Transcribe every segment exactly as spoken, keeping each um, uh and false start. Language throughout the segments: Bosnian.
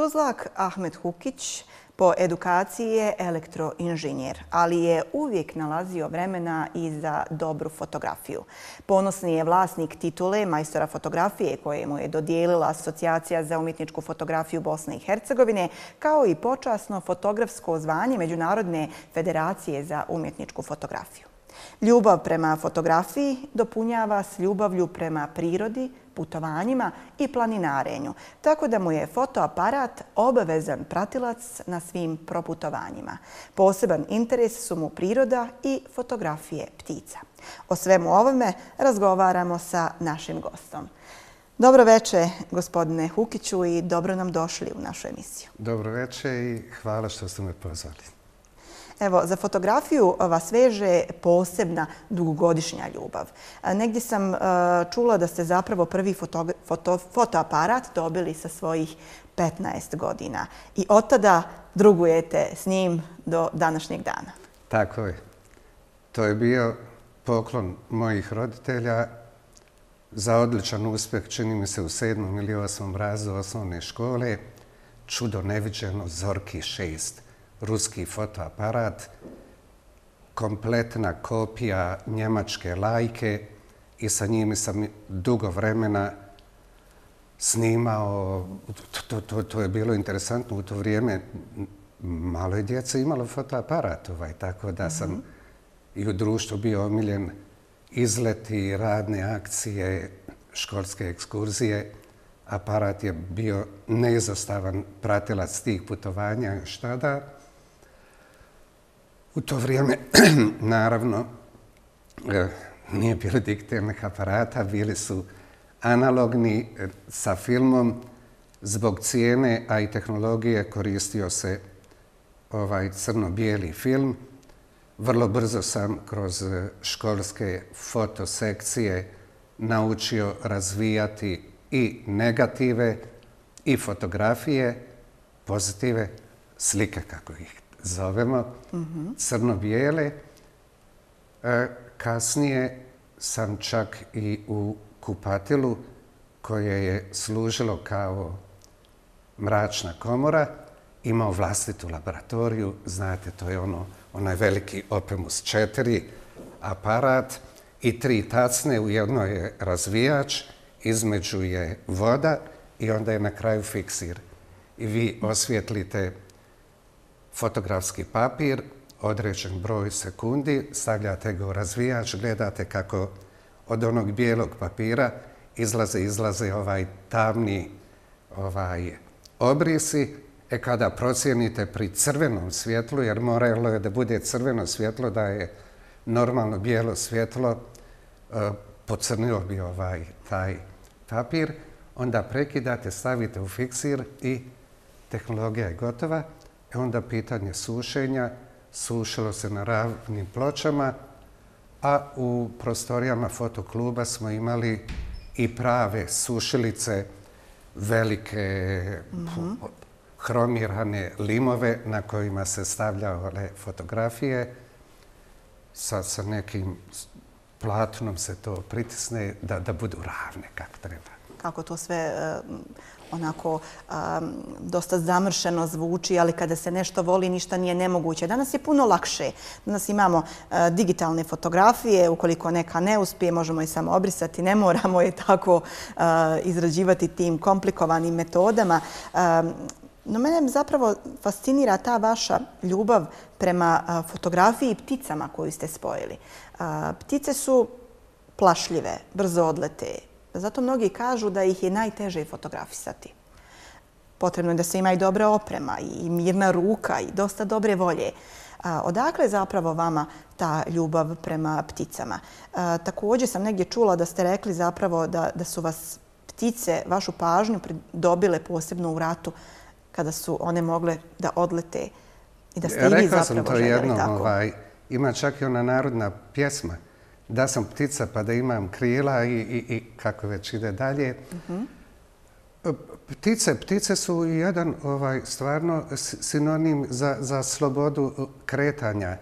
Tuzlak Ahmed Hukić po edukaciji je elektroinženjer, ali je uvijek nalazio vremena i za dobru fotografiju. Ponosni je vlasnik titule majstora fotografije koje mu je dodijelila Asocijacija za umjetničku fotografiju Bosne i Hercegovine, kao i počasno fotografsko zvanje Međunarodne federacije za umjetničku fotografiju. Ljubav prema fotografiji dopunjava s ljubavlju prema prirodi, putovanjima i planinarenju, tako da mu je fotoaparat obavezan pratilac na svim proputovanjima. Poseban interes su mu priroda i fotografije ptica. O svemu ovome razgovaramo sa našim gostom. Dobro večer, gospodine Hukiću, i dobro nam došli u našu emisiju. Dobro večer i hvala što ste me pozvali. Evo, za fotografiju vas veže posebna dugogodišnja ljubav. Negdje sam čula da ste zapravo prvi foto, foto, fotoaparat dobili sa svojih petnaest godina i od tada drugujete s njim do današnjeg dana. Tako je. To je bio poklon mojih roditelja za odličan uspjeh, čini mi se u sedmom ili osmom razredu osnovne škole. Čudo neviđeno, Zorki šest. Ruski fotoaparat, kompletna kopija njemačke Lajke i sa njimi sam dugo vremena snimao. To, to, to je bilo interesantno u to vrijeme. Malo je djece imalo fotoaparat, ovaj, tako da sam mm-hmm. i u društvu bio omiljen izleti, radne akcije, školske ekskurzije. Aparat je bio neizostavan pratilac tih putovanja još tada. U to vrijeme, naravno, nije bilo digitalnih aparata, bili su analogni sa filmom. Zbog cijene, a i tehnologije, koristio se ovaj crno-bijeli film. Vrlo brzo sam kroz školske fotosekcije naučio razvijati i negative i fotografije, pozitive, slike kako ih zovemo, mm-hmm. crno-bijele. E, kasnije sam čak i u kupatilu koje je služilo kao mračna komora imao vlastitu laboratoriju. Znate, to je ono, onaj veliki Opemus četiri aparat i tri tacne. U jednoj je razvijač, između je voda i onda je na kraju fiksir. I vi osvijetlite fotografski papir, određen broj sekundi, stavljate ga u razvijač, gledate kako od onog bijelog papira izlaze, izlaze ovaj tamni ovaj, obrisi. E kada procijenite pri crvenom svjetlu, jer moralo je da bude crveno svjetlo, da je normalno bijelo svjetlo, pocrnio bi ovaj taj papir, onda prekidate, stavite u fiksir i tehnologija je gotova. E onda pitanje sušenja, sušilo se na ravnim pločama, a u prostorijama fotokluba smo imali i prave sušilice, velike mm-hmm. hromirane limove na kojima se stavljale fotografije. Sa, sa nekim platnom se to pritisne da, da budu ravne kako treba. Kako to sve uh, onako um, dosta zamršeno zvuči, ali kada se nešto voli, ništa nije nemoguće. Danas je puno lakše. Danas imamo uh, digitalne fotografije. Ukoliko neka ne uspije, možemo je samo obrisati. Ne moramo je tako uh, izrađivati tim komplikovanim metodama. Um, No mene zapravo fascinira ta vaša ljubav prema uh, fotografiji i pticama koju ste spojili. Uh, ptice su plašljive, brzo odlete. Zato mnogi kažu da ih je najteže fotografisati. Potrebno je da se ima i dobra oprema i mirna ruka i dosta dobre volje. Uh, odakle je zapravo vama ta ljubav prema pticama? Uh, također sam negdje čula da ste rekli zapravo da, da su vas ptice, vašu pažnju dobile posebno u ratu, kada su one mogle da odlete i da ste i vi zapravo željeli tako. Rekao sam to jednom, ovaj, ima čak i ona narodna pjesma, da sam ptica pa da imam krila i, i, i kako već ide dalje. Uh-huh. Ptice, ptice su jedan ovaj, stvarno sinonim za, za slobodu kretanja.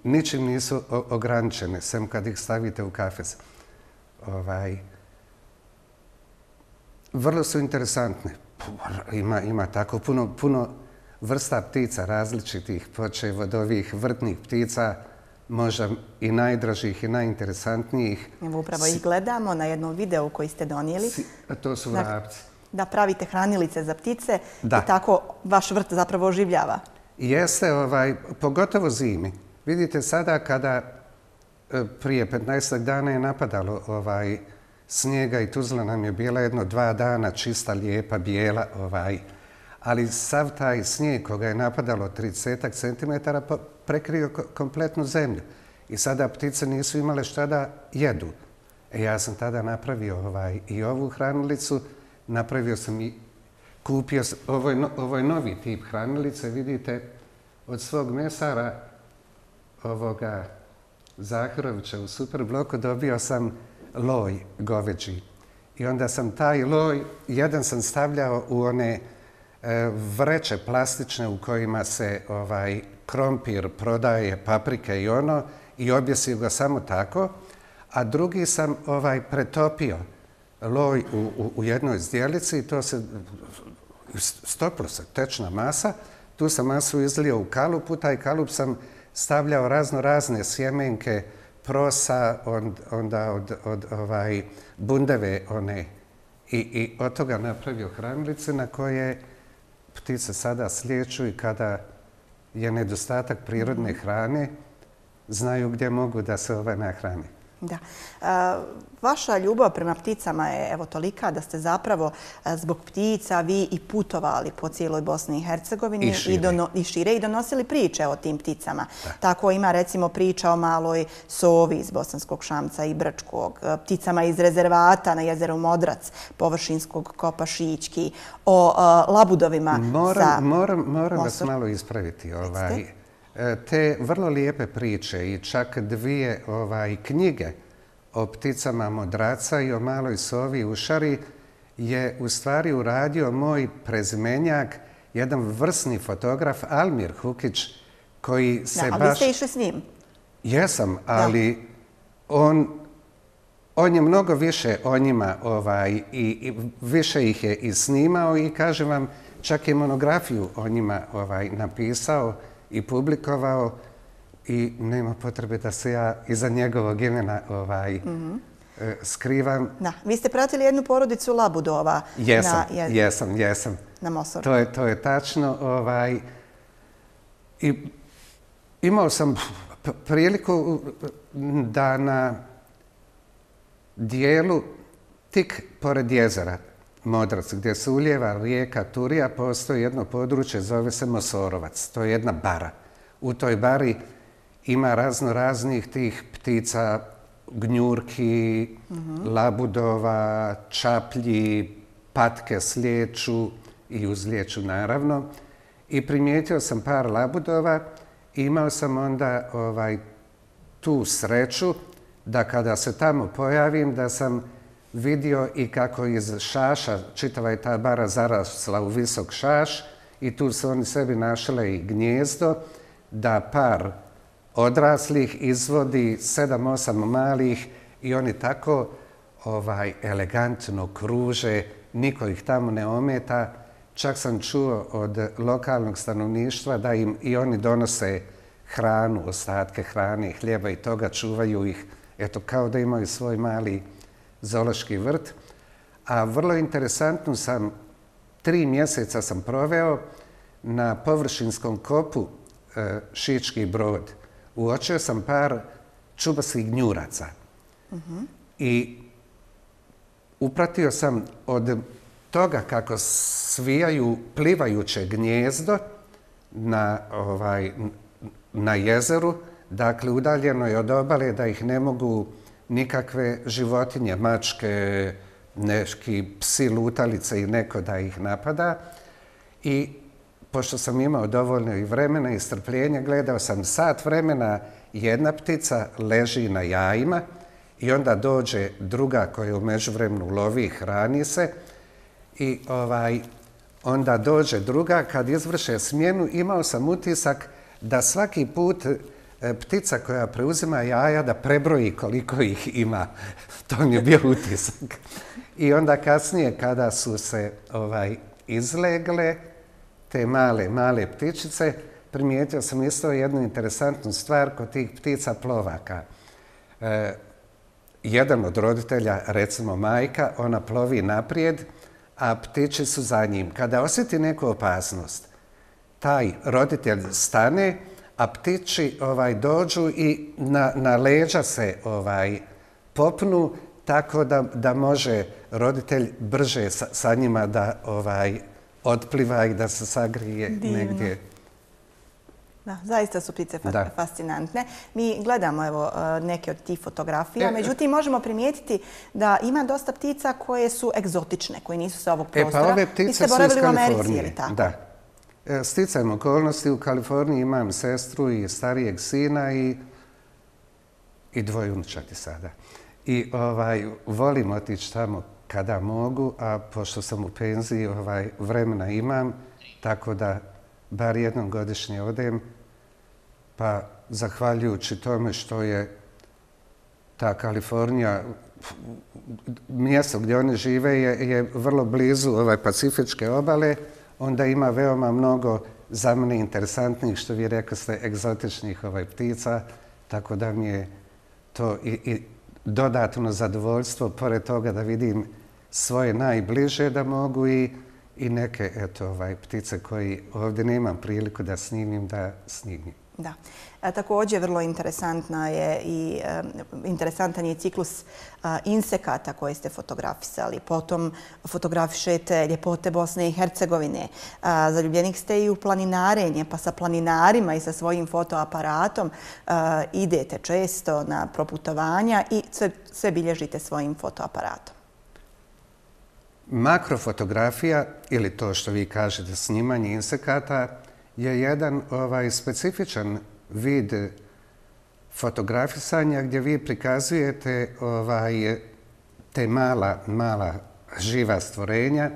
Ničim nisu ograničene, sem kad ih stavite u kafes. Ovaj, vrlo su interesantne. Ima, ima tako puno, puno vrsta ptica različitih, počev od ovih vrtnih ptica, možda i najdražih i najinteresantnijih. Evo upravo ih gledamo na jednom videu koji ste donijeli. To su vrapci. Da pravite hranilice za ptice da. I tako vaš vrt zapravo oživljava. Jeste, ovaj, pogotovo zimi. Vidite sada kada prije petnaestak dana je napadalo ovaj, snijega i Tuzla nam je bila jedno dva dana čista, lijepa, bijela, ovaj, ali sav taj snijeg koga je napadalo tridesetak centimetara prekrio kompletnu zemlju. I sada ptice nisu imale šta da jedu. E ja sam tada napravio ovaj, i ovu hranilicu, napravio sam i kupio, ovo je, no, ovo je novi tip hranilice, vidite, od svog mesara ovoga Zahirovića u Superbloku dobio sam loj goveđi. I onda sam taj loj, jedan sam stavljao u one e, vreće plastične u kojima se ovaj krompir prodaje, paprike i ono, i objesio ga samo tako, a drugi sam ovaj pretopio loj u, u, u jednoj zdjelici i to se stopilo se, tečna masa. Tu sam masu izlio u kalup, u taj kalup sam stavljao razno razne sjemenke, prosa, on, onda od, od ovaj, bundeve one. I, I od toga napravio hranilice na koje ptice sada slijeću i kada je nedostatak prirodne hrane, znaju gdje mogu da se ove nahrane. Da. Vaša ljubav prema pticama je evo tolika da ste zapravo zbog ptica vi i putovali po cijeloj Bosni i Hercegovini i šire i, dono, i, šire, i donosili priče o tim pticama. Da. Tako ima recimo priča o maloj sovi iz Bosanskog Šamca i Brčkog, pticama iz rezervata na jezeru Modrac, površinskog kopa Šićki, o uh, labudovima moram, sa Moram, moram vas malo ispraviti. Ovaj, te vrlo lijepe priče i čak dvije ovaj, knjige o pticama modraca i o maloj sovi u Šari je u stvari uradio moj prezimenjak, jedan vrsni fotograf Almir Hukić, koji se da, baš... Ali vi ste išli s njim? Jesam, ali da. on, on je mnogo više o njima ovaj, i, i više ih je i snimao i kažem vam, čak i monografiju o njima ovaj, napisao i publikovao i nema potrebe da se ja iza njegovog imena ovaj, mm-hmm. skrivam. Da, vi ste pratili jednu porodicu labudova. Jesam, na, je, jesam, jesam. Na Mosoru. To je, to je tačno. Ovaj, i imao sam priliku da na dijelu tik pored jezera Modrac, gdje se ulijeva rijeka Turija, postoji jedno područje, zove se Mosorovac. To je jedna bara. U toj bari ima razno raznih tih ptica, gnjurki, mm-hmm. labudova, čaplji, patke slijeću i uzlijeću naravno. I primijetio sam par labudova i imao sam onda ovaj, tu sreću da kada se tamo pojavim, da sam vidio i kako iz šaša, čitava je ta bara zarasla u visok šaš i tu su oni sebi našle i gnjezdo, da par odraslih izvodi sedam, osam malih i oni tako ovaj, elegantno kruže, niko ih tamo ne ometa. Čak sam čuo od lokalnog stanovništva da im i oni donose hranu, ostatke hrane, hljeba i toga, čuvaju ih, eto kao da imaju svoj mali zoološki vrt. A vrlo interesantno sam, tri mjeseca sam proveo na površinskom kopu e, Šički Brod. Uočio sam par čubastih gnjuraca. Mm-hmm. I upratio sam od toga kako svijaju plivajuće gnjezdo na, ovaj, na jezeru, dakle udaljeno je od obale da ih ne mogu nikakve životinje, mačke, neki psi, lutalice i neko da ih napada. I pošto sam imao dovoljno i vremena i strpljenja, gledao sam sat vremena, jedna ptica leži na jajima i onda dođe druga koja u međuvremenu lovi i hrani se i ovaj, onda dođe druga. Kad izvrše smjenu, imao sam utisak da svaki put ptica koja preuzima jaja da prebroji koliko ih ima. To mi je bio utisak. I onda kasnije kada su se ovaj, izlegle, te male, male ptičice. Primijetio sam isto jednu interesantnu stvar kod tih ptica plovaka. E, jedan od roditelja, recimo majka, ona plovi naprijed, a ptiči su za njim. Kada osjeti neku opasnost, taj roditelj stane, a ptiči ovaj, dođu i na, na leđa se ovaj, popnu, tako da, da može roditelj brže sa, sa njima da ovaj, otpliva i da se sagrije Divno. Negdje. Da, zaista su ptice Da. fascinantne. Mi gledamo evo, neke od tih fotografija, E, međutim možemo primijetiti da ima dosta ptica koje su egzotične, koje nisu sa ovog E, prostora. pa ove Vi ptice ste su iz boravili u Americi, je Kalifornije. li tako? Da. E, Sticajem okolnosti, u Kaliforniji imam sestru i starijeg sina i, i dvoje unučati sada. I ovaj, volim otići tamo kada mogu, a pošto sam u penziji, ovaj, vremena imam, tako da bar jednom godišnje odem, pa zahvaljujući tome što je ta Kalifornija, mjesto gdje oni žive je, je vrlo blizu ovaj, Pacifičke obale, onda ima veoma mnogo za mene interesantnih, što vi rekli ste, egzotičnih ovaj, ptica, tako da mi je to i, i dodatno zadovoljstvo, pored toga da vidim svoje najbliže da mogu i, i neke eto, ovaj, ptice koji ovdje nemam priliku da snimim, da snimim. Da. A, također vrlo interesantna je i e, interesantan je ciklus a, insekata koje ste fotografisali. Potom fotografišete ljepote Bosne i Hercegovine. A, zaljubljenik ste i u planinarenje, pa sa planinarima i sa svojim fotoaparatom a, idete često na proputovanja i sve, sve bilježite svojim fotoaparatom. Makrofotografija, ili to što vi kažete snimanje insekata, je jedan ovaj, specifičan vid fotografisanja gdje vi prikazujete ovaj, te mala, mala živa stvorenja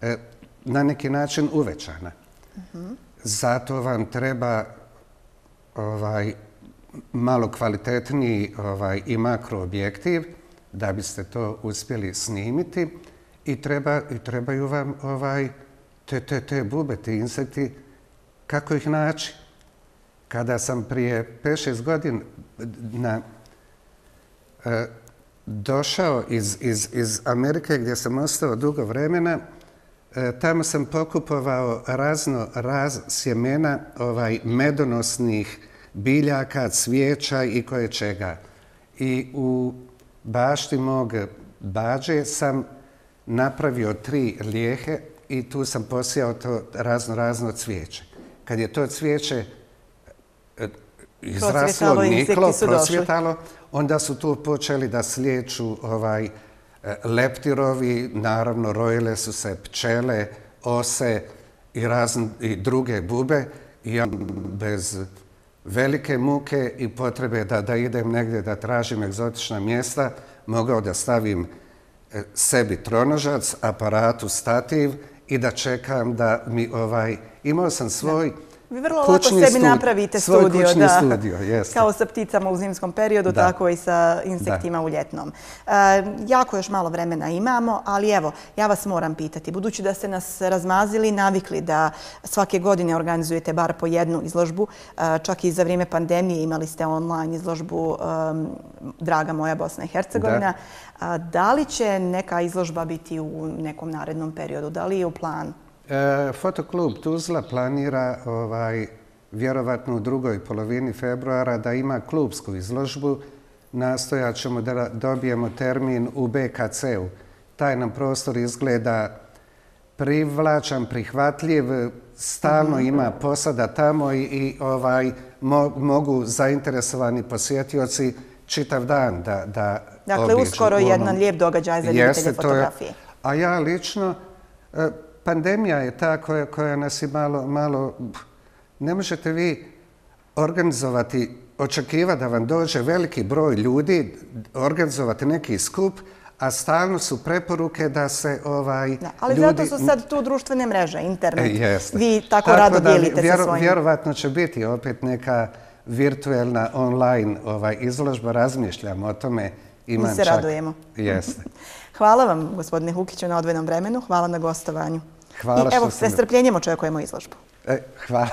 eh, na neki način uvećana. Uh-huh. Zato vam treba ovaj, malo kvalitetniji ovaj, i makroobjektiv da biste to uspjeli snimiti i, treba, i trebaju vam ovaj, te, te, te bube, ti insekti, kako ih naći. Kada sam prije pet šest godina na, e, došao iz, iz, iz Amerike gdje sam ostao dugo vremena, e, tamo sam pokupovao razno raz sjemena ovaj, medonosnih biljaka, cvijeća i koje čega. I u bašti mog bađe sam napravio tri lijehe i tu sam posijao to razno razno cvijeće. Kad je to cvijeće izraslo, niklo, prosvjetalo, onda su tu počeli da slijeću ovaj, leptirovi, naravno rojile su se pčele, ose i, razne, i druge bube. I ja bez velike muke i potrebe da, da idem negdje da tražim egzotična mjesta, mogao da stavim sebi tronožac, aparatu, stativ i da čekam da mi ovaj... Imao sam svoj da. Vi vrlo kućni lako sebi studi, napravite svoj studio, kućni da. studio, jeste. Kao sa pticama u zimskom periodu, da. tako i sa insektima da. U ljetnom. E, jako još malo vremena imamo, ali evo, ja vas moram pitati, budući da ste nas razmazili i navikli da svake godine organizujete bar po jednu izložbu, čak i za vrijeme pandemije imali ste online izložbu um, Draga moja Bosna i Hercegovina. Da. Da li će neka izložba biti u nekom narednom periodu? Da li je u planu? E, Fotoklub Tuzla planira ovaj, vjerovatno u drugoj polovini februara da ima klubsku izložbu. Nastojat ćemo da dobijemo termin u B K C-u. Taj nam prostor izgleda privlačan, prihvatljiv, stalno ima posada tamo i, i ovaj, mo, mogu zainteresovani posjetioci čitav dan da, da dakle, obiđu. uskoro onom... jedan lijep događaj za ljubitelje fotografije. Je, a ja lično... E, Pandemija je ta koja, koja nas je malo, malo... Ne možete vi organizovati, očekivati da vam dođe veliki broj ljudi, organizovati neki skup, a stalno su preporuke da se ovaj, da, ali ljudi... zato su sad tu društvene mreže, internet. E, jeste. Vi tako, tako rado da, dijelite vjero, sa svojim... Vjerovatno će biti opet neka virtuelna online ovaj, izložba. Razmišljam o tome. Imam Mi se čak... radujemo. Jeste. Hvala vam, gospodine Hukiću, na odvojenom vremenu. Hvala na gostovanju. Hvala I evo, što sam... s strpljenjem očekujemo izložbu. E, hvala.